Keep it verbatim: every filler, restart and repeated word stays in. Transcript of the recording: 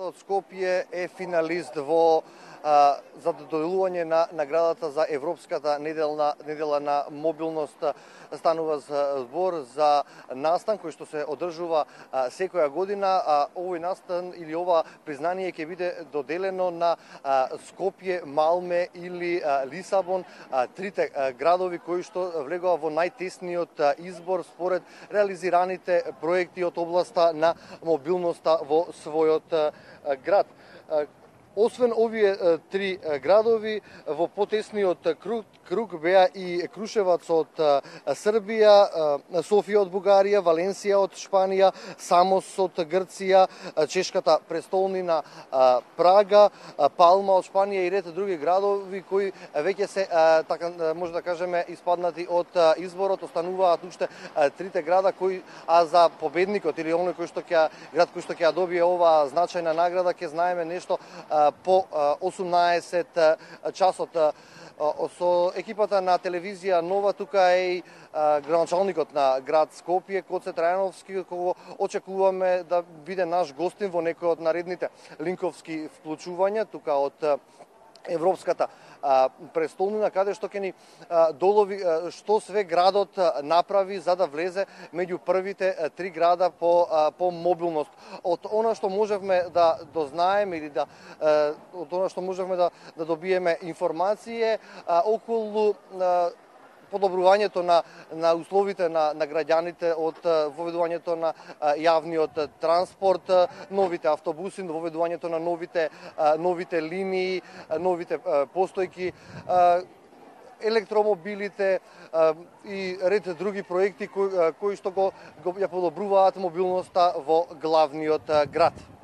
Градот Скопје е финалист во а, за доделување на наградата за Европската неделна недела на мобилност. Станува збор за настан кој што се одржува а, секоја година, а овој настан или ова признание ќе биде доделено на а, Скопје, Малме или а, Лисабон, а, трите а, градови кои што влегува во најтесниот а, избор според реализираните проекти од областа на мобилноста во својот а, град. Освен овие три градови, во потесниот круг, круг беа и Крушевац од Србија, Софија од Бугарија, Валенсија од Шпанија, Самос од Грција, чешката престолнина Прага, Палма од Шпанија и ред други градови кои веќе се, така може да кажеме, испаднати од изборот. Остануваат уште трите града кои, а за победникот или оној кој што ќе град кој што ќе добие ова значајна награда ќе знаеме нешто по осумнаесет часот. Со екипата на телевизија Нова тука е и градоначалникот на град Скопје, Коце Трајановски, кого очекуваме да биде наш гостин во некој од наредните линковски вклучувања тука од Европската а, престолнина, каде што ќе ни а, долови а, што све градот а, направи за да влезе меѓу првите а, три града по а, по мобилност. Од она што можевме да дознаеме или да а, од она што можевме да да добиеме информација а, околу а, подобрувањето на на условите на на граѓаните од воведувањето на јавниот транспорт, новите автобуси, воведувањето на новите новите линии, новите постојки, електромобилите и ред други проекти кои кои што го, го ја подобруваат мобилноста во главниот град.